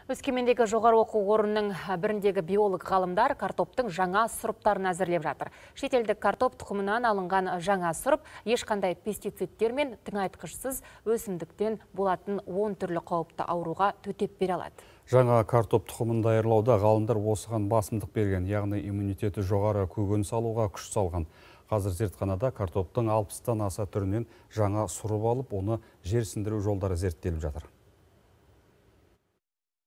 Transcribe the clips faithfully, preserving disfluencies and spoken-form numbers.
Өскемендегі жоғары оқу орнының біріндегі биолог ғалымдар картоптың жаңа сұрыптарын әзірлеп жатыр. Шетелдік картоп тұқымынан алынған жаңа сұрып ешқандай пестицидтер мен тыңайтқышсыз өсімдіктен болатын он түрлі қауіпті ауруға төтеп бере алады. Жаңа картоп тұқымын даярлауда ғалымдар осыған басымдық берген, яғни иммунитеті жоғары көкөніс алуға күш салған. Қазір зертханада картоптың алпыстан аса түрінен жаңа сұрып алып, оны жерсіндіру жолдары зерттеліп жатыр.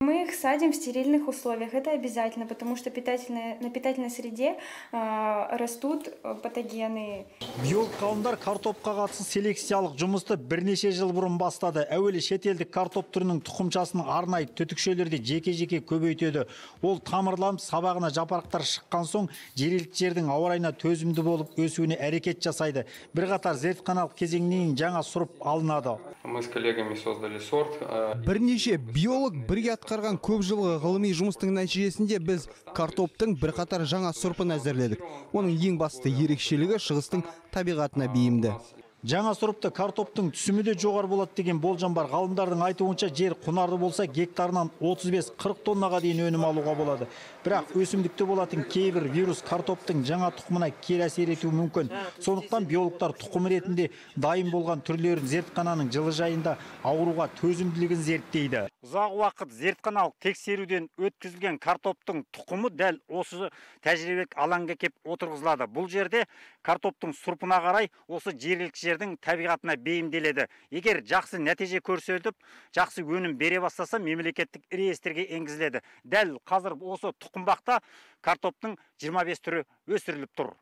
Мы их садим в стерильных условиях. Это обязательно, потому что питательная, на питательной среде э, растут патогены. Биолог ғалымдар картопқа қатысты селекциялық жұмысты бірнеше жыл бұрын бастады. Әуелі шетелдік картоп түрінің тұқымшасының арнайы түтікшелерде жеке-жеке көбейтеді. Ол тамырланып, сабағына жапырақтар шыққан соң, жергілікті жердің ауа райына төзімді болып өсуіне әрекет жасайды. Бірқатар зертханалық кезеңнен жаңа сұрып алынады. Мы с коллегами создали сорт. Бірнеше биолог бірге атқарған көп жылғы ғылыми жұмыстың нәтижесінде біз картоптың бірқатар жаңа сұрпын әзірледік. Оның ең басты ерекшелігі шығыстың табиғатына бейімді. Жаңа сұрыпты картоптың түсімі де жоғары болады деген болжам бар. Ғалымдардың айтуынша жер құнарлы болса гектарынан отыз бес қырық тоннаға дейін өнім алуға болады. Бірақ өсімдікте болатын кейбір вирус картоптың жаңа тұқымына кері әсер етуі мүмкін. Сондықтан биологтар тұқым ретінде дайын болған түрлерін зертхананың жылыжайында ауруға төзімділігін зерттейді. Ұзақ уақыт зертханалық тексеруден өткізілген картоптың тұқымы дәл осы тәжірибелік алаңға кеп отырғызылады. Бұл жерде картоптың сұрпына қарай осы жергілікті жердің табиғатына бейімделеді. Егер жақсы нәтиже көрсетіп, жақсы өнім бере бастаса, мемлекеттік реестрге енгізіледі. Дәл қазір осы тұқымбақта картоптың жиырма бес түрі өсіріліп тұр.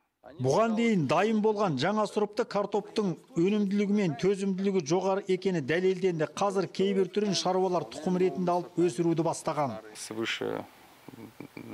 Бұған дейін дайын болған жаңа сұрыпты картоптың өнімділігі мен төзімділігі жоғары екені дәлелденді. Қазір кейбір түрін шаруалар тұқым ретінде алып өсіруді бастаған. Свыше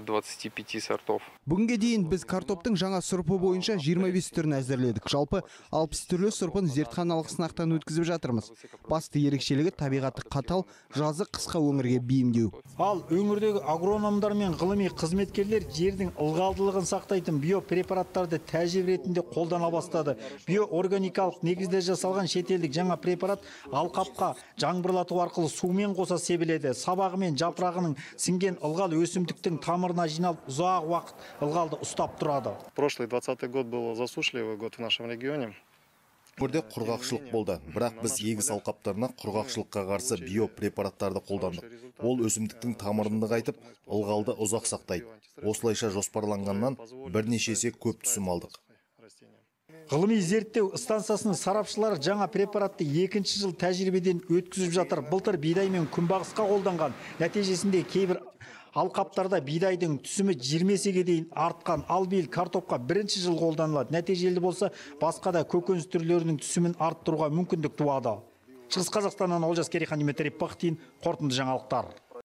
двадцати пяти сортов. Бүгінге дейін біз картоптың жаңа сұрпы бойынша жиырма бес түрін әзірледік. Жалпы алпыс түрлі сұрпын зертханалық сынақтан өткізіп жатырмыз. Басты ерекшелігі табиғаты қатал, жазы қысқа өңірге бейімдеу. Ал өңірдегі агрономдар мен ғылыми қызметкерлер жердің ылғалдылығын сақтайтын биопрепараттарды тәжірибе ретінде қолдана бастады. Биоорганикалық негізде жасалған шетелдік жаңа препарат алқапқа жаңбырлату арқылы сумен қоса себіледі. Сабағы мен жапырағының сіңген ылғал өсімдіктің тамырына жиналып ұзақ уақыт ылғалды ұстап тұрады. Прошлый двадцатый год был засушливый год в нашем регионе. Өңірде құрғақшылық болды, бірақ біз егіс алқаптарына құрғақшылыққа қарсы биопрепараттарды қолдандық. Ол өсімдіктің тамырын нығайтып, ылғалды ұзақ сақтайды. Осылайша жоспарланғаннан бірнеше есе көп түсім алдық. Ғылыми зерттеу станциясының сарапшылары жаңа препаратты екінші жыл тәжірибеден өткізіп жатыр. Былтыр бидай мен күнбағысқа қолданған. Нәтижесінде кейбір алқаптарда бидайдың түсімі жиырма есеге дейін артқан. Ал биыл картопқа бірінші жыл қолданылады. Нәтижелі болса, басқа да көкөніс түрлерінің түсімін арттыруға мүмкіндік туады. Шығыс Қазақстаннан Олжас Керейхан, Дмитрий Пахтин, қорытынды жаңалықтар.